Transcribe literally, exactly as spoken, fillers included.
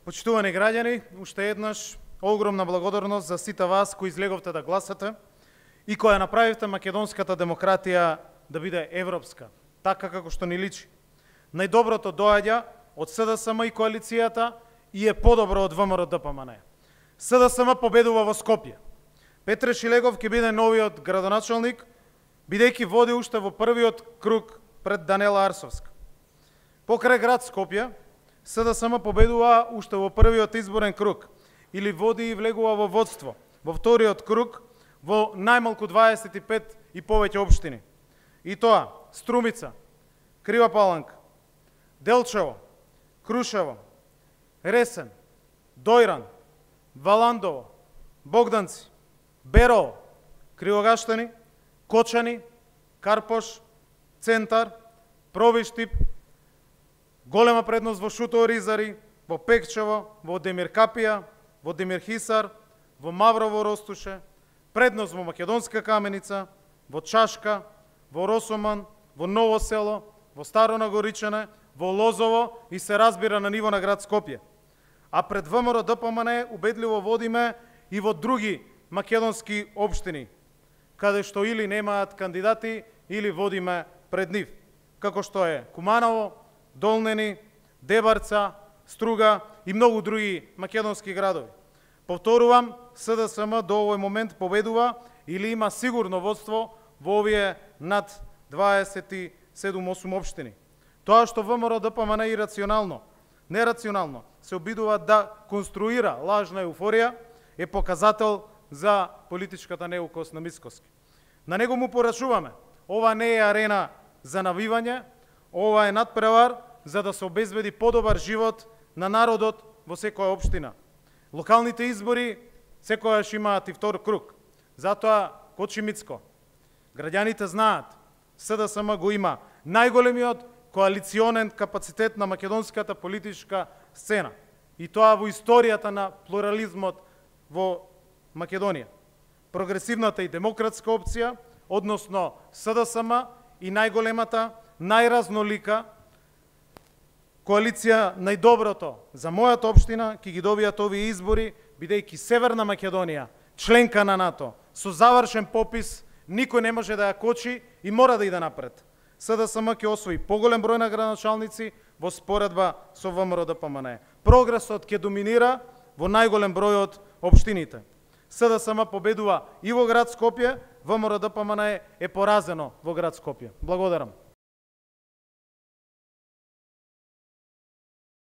Почитувани граѓани, уште еднаш огромна благодарност за сите вас кои излеговте да гласате и кои ја направивте македонската демократија да биде европска, така како што ни личи. Најдоброто доаѓа од СДСМ и коалицијата и е подобро од ВМРО-ДПМН. СДСМ победува во Скопје. Петре Шилегов ќе биде новиот градоначалник, бидејќи води уште во првиот круг пред Данела Арсовска. Покрај град Скопје, СДСМ победува уште во првиот изборен круг, или води и влегува во водство, во вториот круг, во најмалку дваесет и пет и повеќе општини. И тоа, Струмица, Крива Паланка, Делчево, Крушево, Ресен, Дојран, Валандово, Богданци, Берово, Кривогаштани, Кочани, Карпош, Центар, Провиштип, голема предност во Шутово Ризари, во Пекчево, во Демир Капија, во Демир Хисар, во Маврово Ростуше, предност во Македонска Каменица, во Чашка, во Росоман, во Ново Село, во Старо Нагоричане, во Лозово и се разбира на ниво на град Скопје. А пред ВМРО-ДПМН убедливо водиме и во други македонски општини, каде што или немаат кандидати, или водиме пред нив, како што е Куманово, Долнени, Дебарца, Струга и многу други македонски градови. Повторувам, СДСМ до овој момент победува или има сигурно водство во овие над дваесет и седум осум општини. Тоа што ВМРО-ДПМН ирационално, нерационално се обидува да конструира лажна еуфорија е показател за политичката неукост на Мицкоски. На него му порачуваме, ова не е арена за навивање, ова е надпревар за да се обезбеди подобар живот на народот во секоја општина. Локалните избори секојаш имаат и втор круг. Затоа, Кочи Мицко, граѓаните знаат, СДСМ го има најголемиот коалиционен капацитет на македонската политичка сцена. И тоа во историјата на плурализмот во Македонија. Прогресивната и демократска опција, односно СДСМ и најголемата, најразнолика коалиција најдоброто за мојата општина ќе ги добијат овие избори, бидејќи Северна Македонија, членка на НАТО, со завршен попис, никој не може да ја кочи и мора да иде напред. СДСМ ќе освои поголем број на градоначалници во споредба со ВМРО-ДПМН. Прогресот ќе доминира во најголем број од општините. СДСМ победува и во град Скопје, ВМРО-ДПМН е поразено во град Скопје. Благодарам.